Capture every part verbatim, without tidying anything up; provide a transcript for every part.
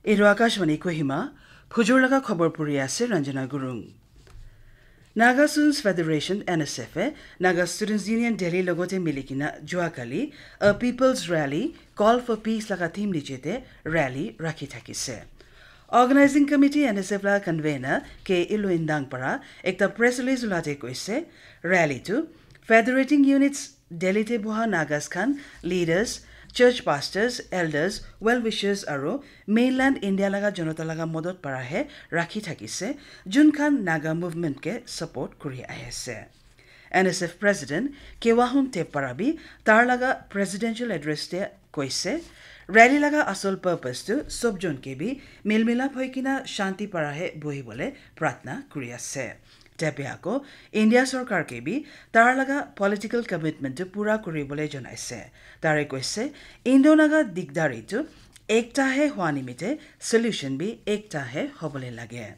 Etu Akashvani Kohima, phujur laga khobor puri ase Ranjana Gurung. Naga Students Federation, N S F e Naga Students Union Delhi logote milikina juakali a People's Rally, Call for Peace laga theme niche te rally rakhi thakise. Organizing Committee N S F la convener K Ilu Indang para ekta press release ulate koise, rally tu federating units Delhi te boha Nagas khan, leaders, church pastors, elders, well wishers aru mainland India laga jonota laga modot para he rakhi thakise, jun khan Naga movement ke support kuri ahi ase. N S F president Kewahun Tep para bi tar laga presidential address te koise, rally laga asol purpose tu sob jon ke bi milmilap hoi kina shanti para he bohi bole pratna kuri ase. Tep e ako India sorkar ke bi tar laga political commitment tu pura kuri bole jonaise. Tare koise, Indo Naga digdari tu ekta he hua nimite solution bi ekta he hobole lage.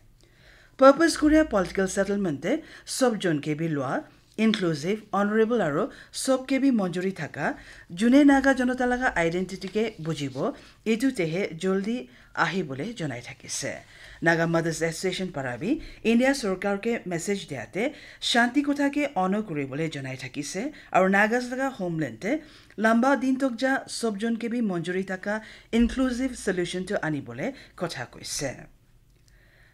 Purpose kuria political settlement te sob jon ke bi lua, inclusive, honorable aru sob ke bi monjuri thaka, june Naga jonota laga identity ke bujibo, etu te he joldi ahi bole jonai thakise. Naga Mothers Association para bi India sorkar ke message diate shanti kotha ke honor kuri bole jonai thakise, aru Nagas laga homeland te lamba din tok ja sob jon ke bi monjuri thaka inclusive solution tu ani bole kotha koise.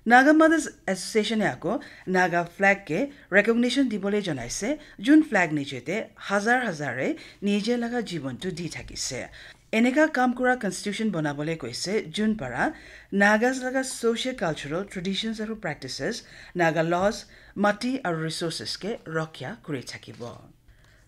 Naga Mothers Association e ako Naga flag ke recognition dibole jonaise, jun flag niche te hazar hazar e nije laga jibon tu di thakise. Eneka kam kura constitution bonabole koise, jun para Nagas laga socio-cultural traditions aru practices, Naga laws, mati aru resources ke rokya kuri thakibo.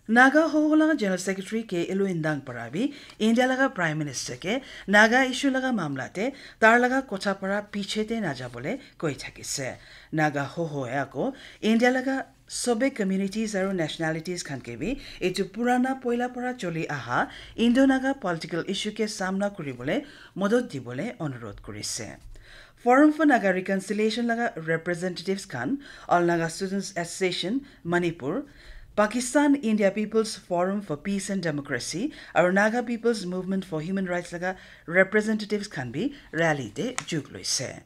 Naga Hoho laga General Secretary K Ilu Indang para bi India laga Prime Minister ke Naga issue laga mamla te tar laga kotha para piche te naja bole koi thakise. Naga Hoho e ako India laga sobe communities aru nationalities khan ke bi etu purana poila para choli aha Indo Naga political issue ke samna kuri bole modot di bole onurodh kurise. Forum for Naga Reconciliation laga representatives khan, All Naga Students Association, Manipur, Pakistan India People's Forum for Peace and Democracy, aru Naga People's Movement for Human Rights laga representatives khan bi rally te jug loise.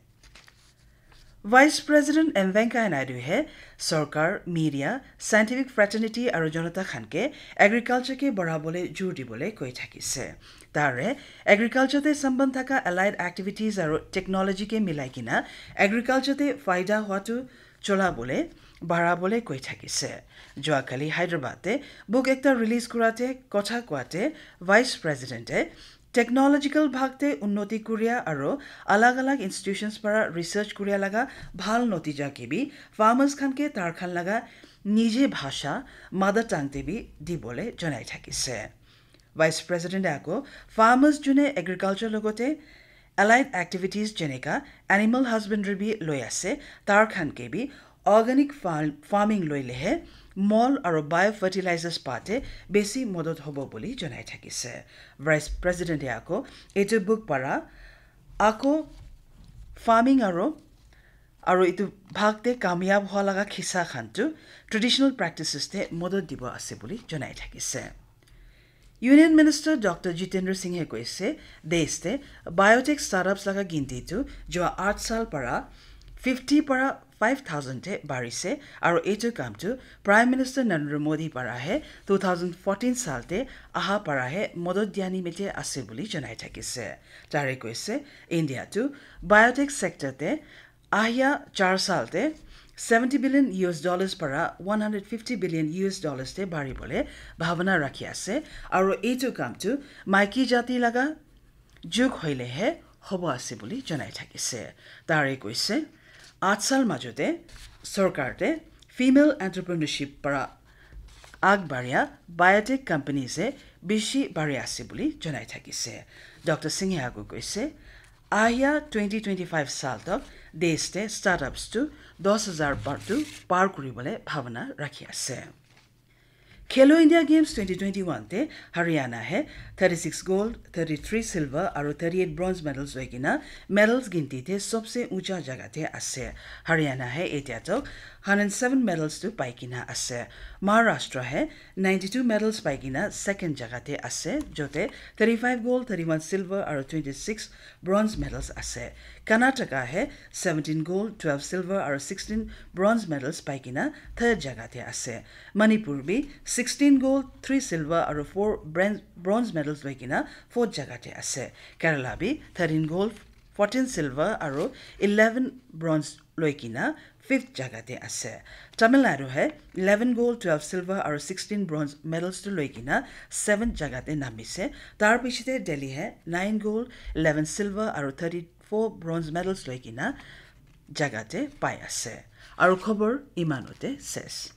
Vice President M Venkaiah Naidu he sorkar, media, scientific fraternity aru jonata khan ke agriculture ke barabole jur dibole koi thakise. Tare agriculture te samband thaka allied activities aru technology ke milai kina agriculture te faida hua tu chola bole, bara bole koi thakise. Jua kali Hyderabad te book ekta release kurate kotha koate Vice President e technological bhag te unnoti kuria aru alag alag institutions para research kuria laga bhal notija ke bi farmers khan ke tar khan laga nije bhasha, mother tongue te bi dibole janai thakise. Vice President e ako farmers june agriculture logote allied activities jeneka animal husbandry bi loi ase, tar khan ke bi organic farm, farming loilehe mol aru biofertilizers pate besi modot hobo boli janai thakise. Vice President e ako etu book para ako farming aru aru etu bhag te kamyab hua laga khisa khan tu traditional practices te modot dibo ase boli janai thakise. Union Minister Doctor Jitendra Singh e koise, desh te biotech startups laga ginti tu jua aath sal para fifty para five thousand te barise, aru etu kam tu Prime Minister Narendra Modi para he two thousand fourteen sal te aha para he modot dia nimite ase boli janai thakise. Tare koise, India tu biotech sector te ahia char sal te seventy billion U S dollars para one hundred fifty billion U S dollars te bari bole bhavana rakhi ase, aru etu kam tu maiki jati laga jug hoile he hobo ase boli janai thakise. Tare koise, aath sal majote sorkar te female entrepreneurship para agbaria biotech companies e bishi bari ase boli janai thakise. Doctor Singh e agu koise, ahia twenty twenty-five sal tok desh te startups tu dos hazar par tu par kuri bole bhavana rakhi ase. Khelo India Games twenty twenty-one te Haryana he thirty-six gold, thirty-three silver aru thirty-eight bronze medals loi kena medals ginti te sobse uncha jaga te ase. Haryana he etia tok hundred seven medals tu pai kena ase. Maharashtra he ninety-two medals pai kena second jaga te ase, jote thirty-five gold, thirty-one silver aru twenty-six bronze medals ase. Karnataka he seventeen gold, twelve silver aru sixteen bronze medals pai kena third jaga te ase. Manipur bi sixteen gold, three silver aru four bronze, bronze medals loi kena fourth jaga te ase. Kerala bi thirteen gold, fourteen silver aru eleven bronze loi kena fifth jaga te ase. Tamil Nadu he eleven gold, twelve silver aru sixteen bronze medals tu loi kena seventh jaga te namise. Tar piche te Delhi he nine gold, eleven silver aru thirty-four bronze medals loi kena jaga te pai ase. Aru khobor imanote ses.